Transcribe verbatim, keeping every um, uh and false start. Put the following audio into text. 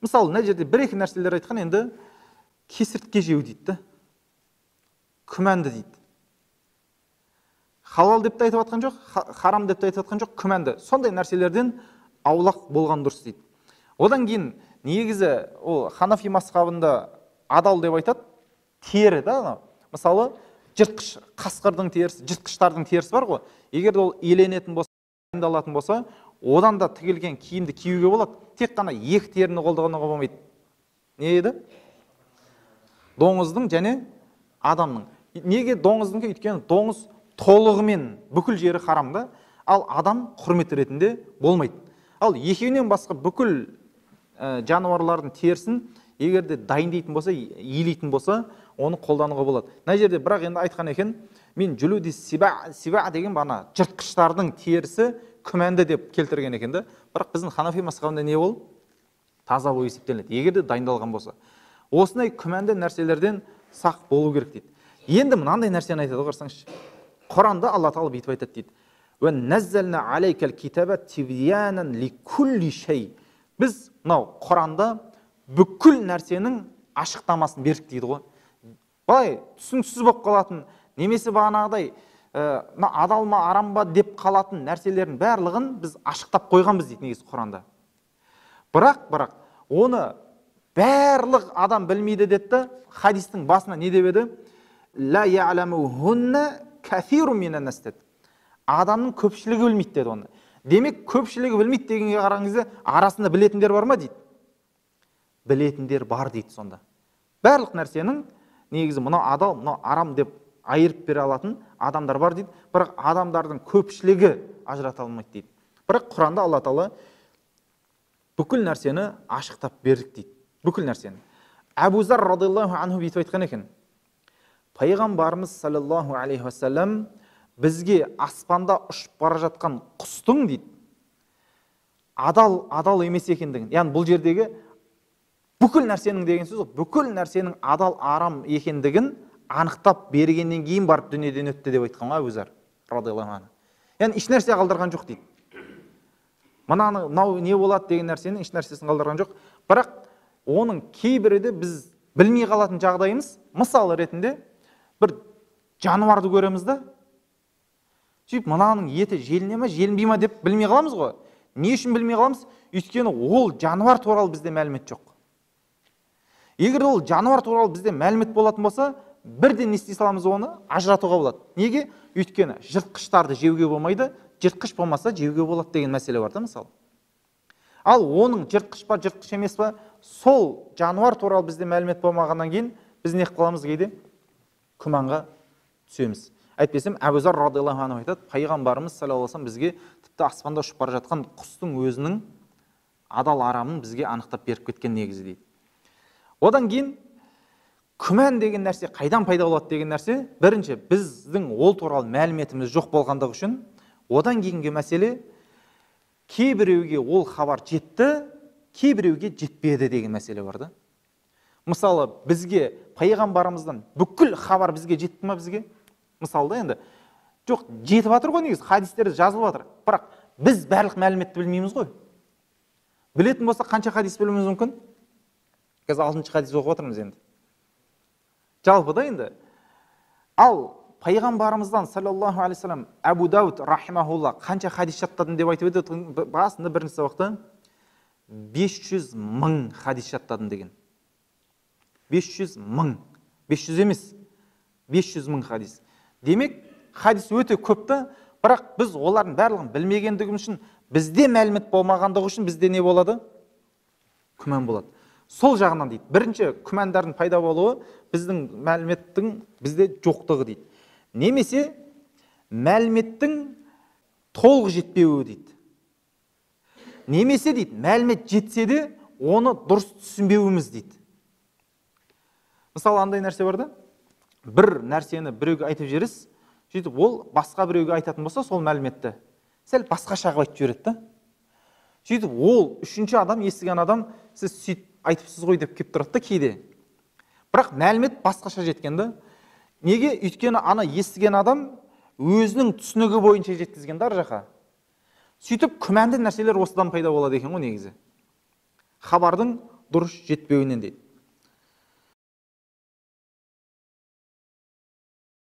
Мысалы, мына жерде бір екі нәрселер айтқан, енді кесіртке жеу дейді, күмәнді дейді. Халал деп те айтып жатқан жоқ, харам деп те айтып жатқан жоқ, күмәнді. Сондай нәрселерден аулақ болған дұрыс дейді. Одан кейін негізі ол Ханафи мазхабында адал деп айтады, тері да, мысалы жыртқыш, қасқырдың терісі, жыртқыштардың терісі бар ғой. Егер ол еленетін болса, дайындалатын болса, одан да тігілген киімді киюге болады. Тек қана екі теріні қолдануға болмайды. Не еді? Доңыздың және адамның. Неге доңыздың? Өйткені доңыз толығымен бүкіл жері харамда, ал адам құрмет ретінде болмайды. Ал екеуінен басқа бүкіл ә, жануарлардың терісін егерде дайындайтын болса, илейтін болса, оны қолдануға болады. Мына жерде бірақ енді айтқан екен, мен жүлуди сиба, сиба деген бана жыртқыштардың терісі күмәнді деп келтірген екен да. Бірақ біздің Ханафи мазхабында не ол? Таза болып есептеледі, егерде дайындалған болса. Осындай күмәнді нәрселерден сақ болу керек дейді. Енді мынандай нәрсені айтады, қарасаңызшы. Құранда Алла тағала бүйтіп айтады дейді. Ва наззална алейкал китаба тибянан ликулли шей. Біз мынау Құранда бүкіл нәрсенің ашықтамасын бердік дейді ғой. Былай түсініксіз болып қалатын, немесе бағанағыдай ә, адал ма, арам ба деп қалатын нәрселердің барлығын біз ашықтап қойғанбыз дейді негізі Құранда. Бірақ, бірақ оны барлық адам білмейді деді, хадистің басына не деп еді? Ла я'ламухунна кафирун минан нас деді. Адамның көпшілігі білмейді деді оны. Демек, көпшілігі білмейді дегенге қараңызда, арасында білетіндер бар ма дейді? Білетіндер бар дейді сонда. Барлық нәрсенің негізі мынау адал, мынау арам деп айырып бере алатын адамдар бар дейді. Бірақ адамдардың көпшілігі ажырата алмайды дейді. Бірақ Құранда Алла тағала бүкіл нәрсені ашықтап бердік дейді. Бүкіл нәрсені. Абу Зар радиаллаху анху бүйтіп айтқан екен. Пайғамбарымыз саллаллаху алейхи уассалам бізге аспанда ұшып бара жатқан құстың дейді, адал, адал емес екендігін, яғни бұл жердегі бүкіл нәрсенің деген сөз, бүкіл нәрсенің адал арам екендігін анықтап бергеннен кейін барып дүниеден өтті деп айтқан Абу Зар радиаллаху анху. Яғни еш нәрсе қалдырған жоқ дейді. Мынаны, мынау не болады деген нәрсенің еш нәрсесін қалдырған жоқ. Бірақ оның кейбірі де біз білмей қалатын жағдайымыз, мысалы ретінде бір жануарды көреміз да, сөйтіп мынаның еті желіне ме, желінбей ме деп білмей қаламыз ғой. Не үшін білмей қаламыз? Өйткені ол жануар туралы бізде мәлімет жоқ. Егер ол жануар туралы бізде мәлімет болатын болса, бірден не істей саламыз, оны ажыратуға болады. Неге? Өйткені жыртқыштарды жеуге болмайды, жыртқыш болмаса жеуге болады деген мәселе бар да, мысалы. Ал оның жыртқыш па, жыртқыш емес па, сол жануар туралы бізде мәлімет болмағаннан кейін біз не қыламыз кейде? Күмәнға түсеміз. Әйтпесем, Абу Зар радиаллаху анху айтады, пайғамбарымыз саллаллаху алейхи вассалам бізге тіпті аспанда ұшып бара жатқан құстың өзінің адал арамын бізге анықтап беріп кеткен негізі дейді. Одан кейін күмән деген нәрсе қайдан пайда болады деген нәрсе, бірінші біздің ол туралы мәліметіміз жоқ болғандығы үшін, одан кейінгі мәселе кейбіреуге ол хабар жетті, кейбіреуге жетпеді деген мәселе бар да. Мысалы, бізге пайғамбарымыздан бүкіл хабар бізге жетті ма бізге? Мысалы да енді, жоқ, жетіп жатыр ғой негізі, хадистерді жазылып жатыр. Бірақ біз барлық мәліметті білмейміз ғой. Білетін болса қанша хадис білуіміз мүмкін? Қазір алтыншы хадис оқып отырмыз енді. Жалпы да енді. Ал пайғамбарымыздан саллаллаху алейхи вассалам Абу Дауд рахимахулла қанша хадис жаттадым деп айтып еді басында бірінші сабақта бес жүз мың хадис жаттадым деген. бес жүз мың. бес жүз емес. бес жүз мың хадис. Демек, хадис өте көпті, бірақ біз олардың барлығын білмегендігіміз үшін, бізде мәлімет болмағандығы үшін бізде не болады? Күмән болады. Сол жағынан дейді. Бірінші күмәндардың пайда болуы біздің мәліметтің бізде жоқтығы дейді. Немесе мәліметтің толық жетпеуі дейді. Немесе дейді, мәлімет жетсе де, оны дұрыс түсінбеуіміз дейді. Мысалы, андай нәрсе бар да, бір нәрсені біреуге айтып жеріз, сөйтіп ол басқа біреуге айтатын болса, сол мәліметті сәл басқаша қылып айтып жібереді да. Сөйтіп ол үшінші адам, естіген адам, сіз сөйтіп айтыпсыз ғой деп кеп тұрады да кейде. Бірақ мәлімет басқаша жеткен да. Неге? Өйткені ана естіген адам өзінің түсінігі бойынша жеткізген дар жақа. Сөйтіп күмәнді нәрселер осыдан пайда болады екен ғой негізі. Хабардың дұрыс жетпеуінен дейді.